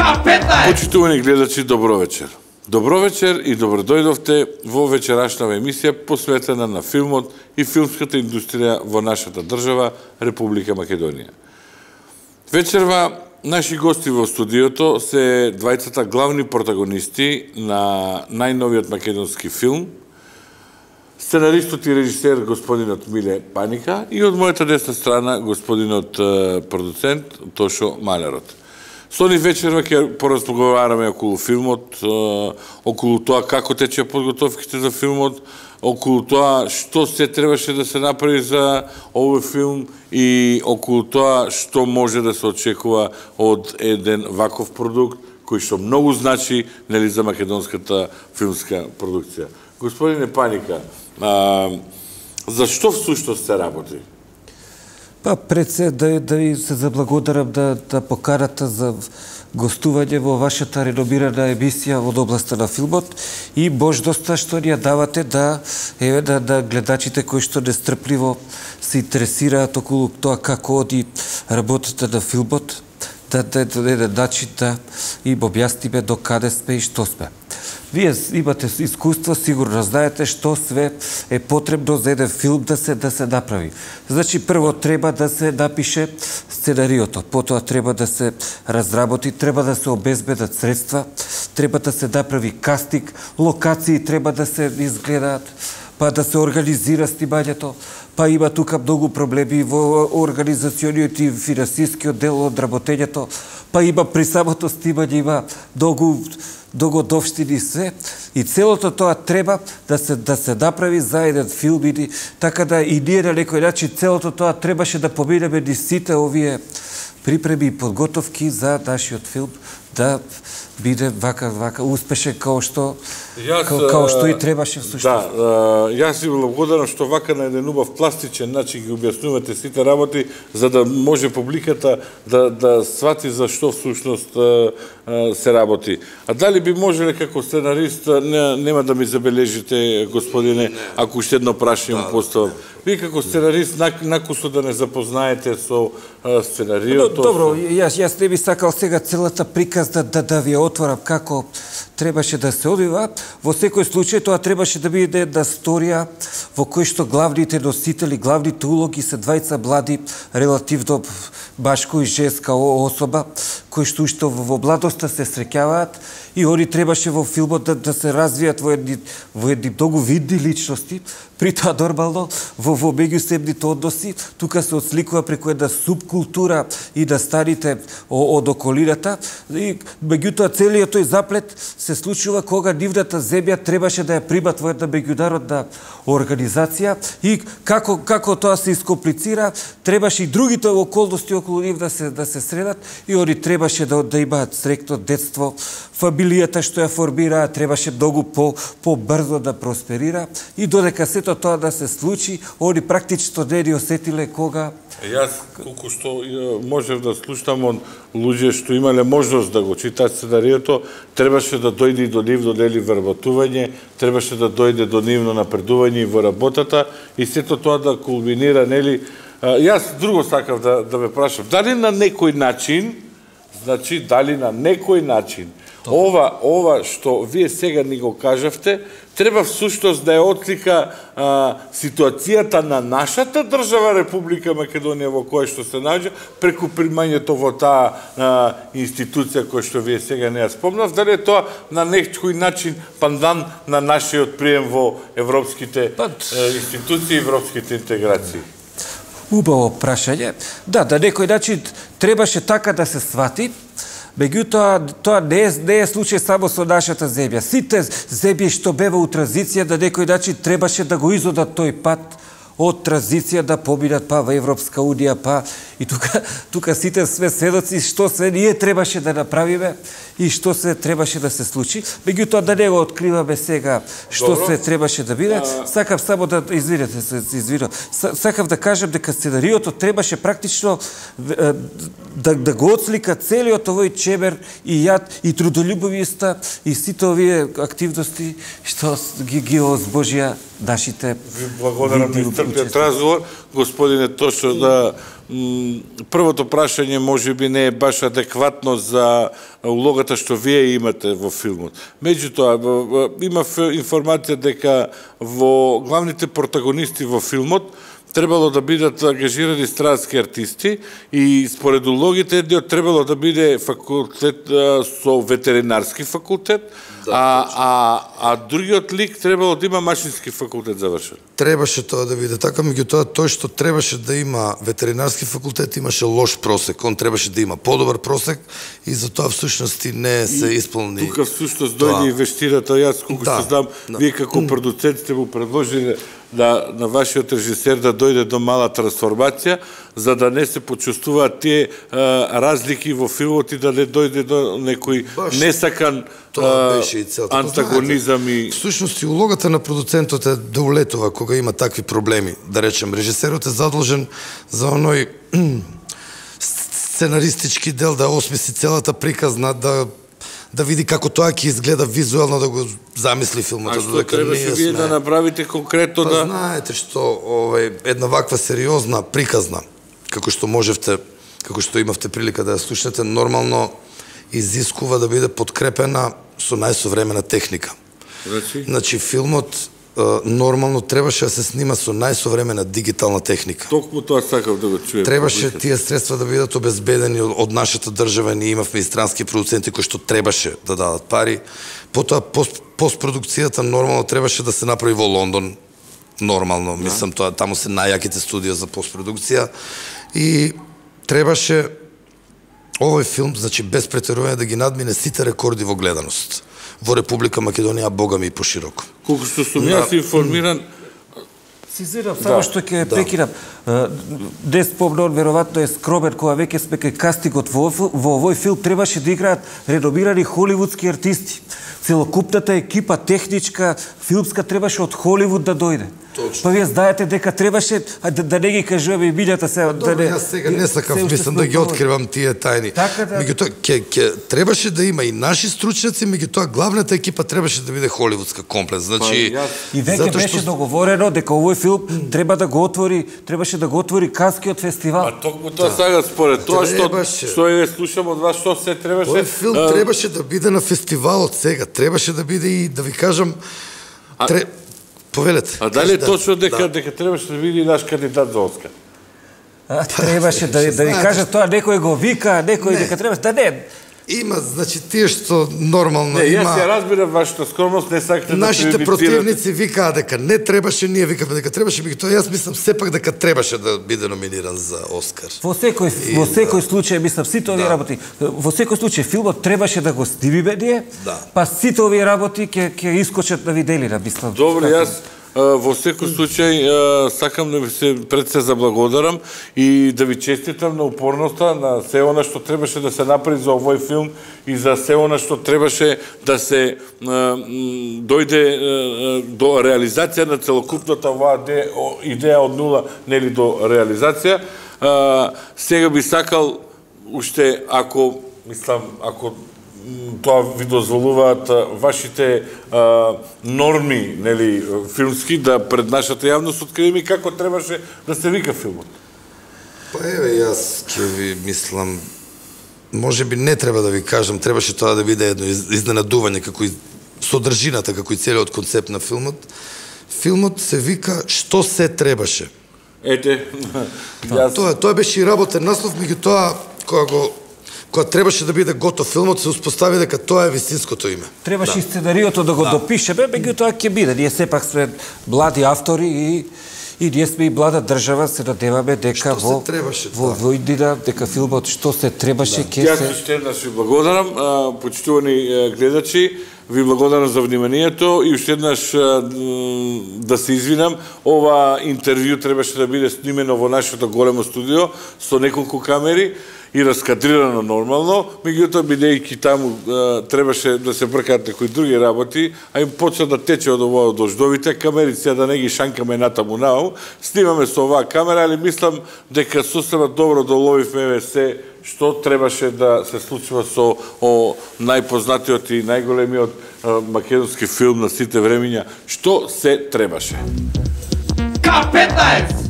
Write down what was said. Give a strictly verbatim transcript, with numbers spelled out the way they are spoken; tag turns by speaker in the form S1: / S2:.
S1: на петнаесет.
S2: Почитувани гледачи, добро вечер. Добро вечер и добро дојдовте во вечерашнава емисија посветена на филмот и филмската индустрија во нашата држава, Република Македонија. Вечерва наши гости во студиото се двајцата главни протагонисти на најновиот македонски филм, сценаристот и режисер господинот Миле Паника и од мојата десна страна господинот продуцент Тошо Малерот. Со нив вечерва ќе поразговараме околу филмот, околу тоа како тече подготовките за филмот, околу тоа што се требаше да се направи за овој филм и околу тоа што може да се очекува од еден ваков продукт кој што многу значи нели за македонската филмска продукција. Господине Паника, а, за што всушност се работи?
S3: Па пред се да, да ви се заблагодарам да, да поканата за гостување во вашата реномирана емисија од областта на филмот и можноста што ни ја давате да, еве, да, да гледачите кои што нестрпливо се интересираат околу тоа како оди работата на филмот, да да да да начин да им објасниме до каде сме и што сме. Вие имате искуство, сигурно знаете што све е потребно за еден филм да се да се направи. Значи прво треба да се напише сценариото, потоа треба да се разработи, треба да се обезбедат средства, треба да се направи кастинг, локации треба да се изгледаат, па да се организира снимањето, па има тука многу проблеми во организациониот и финансискиот дел од работењето, па има при самото снимање има многу догодовштини се и целото тоа треба да се да се направи за еден филм и така да и ние на некој начин целото тоа требаше да поминеме низ сите овие припреми и подготовки за нашиот филм да биде вака вака успешен како што јас, како, како што и требаше всушност.
S2: Да, јас ви благодарам што вака на еден убав пластичен начин ги објаснувате сите работи за да може публиката да да свати за што всушност се работи. А дали би можеле како сценарист, не, нема да ми забележите господине, ако уште едно прашање да, поставам. Вие како сценарист накусо да не запознаете со сценариото.
S3: Добро, јас јас не би сакал сега целата приказ да да, да ви отворам како требаше да се одвива. Во секој случај тоа требаше да биде една сторија во кој што главните носители, главните улоги се двајца млади, релативно башко и женска особа, кои што уште во младоста се среќаваат и они требаше во филмот да, да се развијат во едни, во едни многу видни личности, при тоа нормално во, во меѓусебните односи, тука се отсликува преку една субкултура и да старите од околината и меѓутоа целиот тој заплет се случува кога нивната земја требаше да ја примат во една меѓународна организација и како како тоа се искомплицира, требаше и другите околности околу нив да се да се средат и они требаше да да имаат среќно детство, фамилијата што ја формира требаше многу по побрзо да просперира и додека сето тоа да се случи, они практично не ни осетиле кога.
S2: Јас колку што можев да слушам од луѓе што имале можност да го читаат сценариото, требаше да дојде и до нивно нели вработување, требаше да дојде до нивно напредување во работата и сето тоа да кулминира нели. Јас друго сакав да да ве прашам, дали на некој начин, значи дали на некој начин ова ова што вие сега ни го кажавте, треба всушност да е отлика а, ситуацијата на нашата држава Република Македонија во која што се наоѓа преку примањето во таа а, институција која што вие сега не ја спомнав, дали е тоа на некој начин пандан на нашиот прием во европските а, институции и европските интеграции?
S3: Убаво прашање. Да, да некој начин требаше така да се свати. Меѓутоа, тоа не е, не е случај само со нашата земја. Сите земји што бева у транзиција, на некој начин требаше да го изодат тој пат од транзиција да поминат па во Европска унија, па и тука тука сите сме сведоци што се ние требаше да направиме и што се требаше да се случи. Меѓутоа да не го откриваме сега што Добро. се требаше да биде. А... Сакав само да извинете се, извинувам. Сакав да кажам дека сценариото требаше практично да да го отслика целиот овој чебер и јад и трудолюбивоста и сите овие активности што ги ги озбожија нашите
S2: благодарам првиот разговор, господине, точно да првото прашање можеби не е баш адекватно за улогата што вие имате во филмот. Меѓутоа, има информација дека во главните протагонисти во филмот требало да бидат ангажирани странски артисти и според улогите едниот требало да биде факултет со ветеринарски факултет, да, а, а, а другиот лик требало да има машински факултет завршен.
S1: Требаше тоа да биде така, меѓутоа тој што требаше да има ветеринарски факултет имаше лош просек, он требаше да има подобар просек и затоа всушност не се исполни.
S2: Тука всушност дојде и вештината, јас колку
S1: да,
S2: што знам, да. Вие како продуцент сте му предложили да на вашиот режисер да дојде до мала трансформација, за да не се почувствуваат тие а, разлики во филмот и да не дојде до некој баш несакан а, антагонизам и...
S1: Всушност и улогата на продуцентот е да улетува кога има такви проблеми. Да речем, режисерот е задолжен за оној сценаристички дел, да осмисли целата приказна, да да види како тоа ќе изгледа визуелно, да го замисли филмот.
S2: А што требаше вие да направите конкретно
S1: па,
S2: да...
S1: знаете што, овај, една ваква сериозна приказна, како што можевте, како што имавте прилика да ја слушнете, нормално изискува да биде подкрепена со најсовремена техника.
S2: Значи?
S1: Значи, филмот нормално требаше да се снима со најсовремена дигитална техника.
S2: Токму тоа сакав да го чуем.
S1: Требаше тие средства да бидат обезбедени од нашата држава, ние имавме и странски продуценти кои што требаше да дадат пари. Потоа пост, постпродукцијата нормално требаше да се направи во Лондон. Нормално, да. Мислам тоа, таму се најаките студија за постпродукција и требаше овој филм, значи без претерување, да ги надмине сите рекорди во гледаност во Република Македонија, богами и пошироко.
S2: Колку што сум јас информиран,
S3: Сизирам, само што ќе прекинам. Дес Помнон веројатно е скромен кога веќе сме кај кастингот во овој филм требаше да играат редомирани холивудски артисти. Целокупната екипа техничка, филмска требаше од Холивуд да дојде. Точно. Па вие знаете дека требаше да, да не ги кажуваме имињата се.
S1: Добро, да не, јас сега не сакав, мислам да ги откривам тие тајни.
S3: Така да.
S1: Меѓутоа ќе ќе требаше да има и наши стручњаци, меѓутоа главната екипа требаше да биде холивудска комплет. Значи
S3: па, и веќе беше што... договорено дека овој филм треба да го отвори, требаше да го отвори Канскиот фестивал.
S2: А токму тоа сега според тоа што што е слушам од вас што се требаше.
S1: Овој филм а... требаше да биде на фестивалот сега, требаше да биде и да ви кажам
S2: а...
S1: тре... Повелете.
S2: А дали е точно дека да. дека требаше да биде наш кандидат за Оскар?
S3: А, требаше да да ви кажа тоа, некој го вика, некој дека требаше да не.
S1: Има, значи, тие што нормално
S2: не,
S1: има...
S2: Не, јас ја разбирам вашата скромност, не сакате да
S1: нашите противници викаа дека не требаше, ние викаме дека требаше, меѓутоа јас мислам сепак дека требаше да биде номиниран за Оскар.
S3: Во секој и, во секој да. случај, мислам, сите овие да. работи, во секој случај филмот требаше да го снимиме ние, да. па сите овие работи ќе ќе искочат на виделина, мислам.
S2: Добро, јас во секој случај сакам да ви се пред се заблагодарам и да ви честитам на упорноста, на се она што требаше да се направи за овој филм и за се она што требаше да се дојде до реализација на целокупната оваа идеја од нула, нели до реализација. Сега би сакал уште, ако мислам, ако тоа ви дозволуваат вашите а, норми, нели, филмски, да пред нашата јавност откриеме како требаше да се вика филмот.
S1: Па еве, јас ќе ви мислам, може би не треба да ви кажам, требаше тоа да биде едно изненадување, како и содржината, како и целиот концепт на филмот. Филмот се вика "Што се требаше".
S2: Ете,
S1: јас... Тоа, тоа беше и работен наслов, меѓутоа, кога го кога требаше да биде готов филмот, се успостави дека тоа е вистинското име.
S3: Требаше
S1: да.
S3: и сценариото да го да. допишеме, меѓутоа ќе биде. Ние сепак сме млади автори и и ние сме и млада држава, се надеваме дека во
S1: требаше,
S3: во
S1: да.
S3: иднина дека филмот што се требаше ќе
S2: да.
S3: се.
S2: Јас уште еднаш ви благодарам, почитувани гледачи, ви благодарам за вниманието и уште еднаш да се извинам, ова интервју требаше да биде снимено во нашето големо студио со неколку камери и раскадрирано нормално, меѓутоа бидејќи таму а, требаше да се бркаат некои други работи, а им почна да тече од овој дождовите, камерици да не ги шанкаме натаму нау, снимаме со оваа камера, али мислам дека сосема добро доловивме се што требаше да се случува со о, најпознатиот и најголемиот а, македонски филм на сите времиња, што се требаше.
S4: К петнаесет!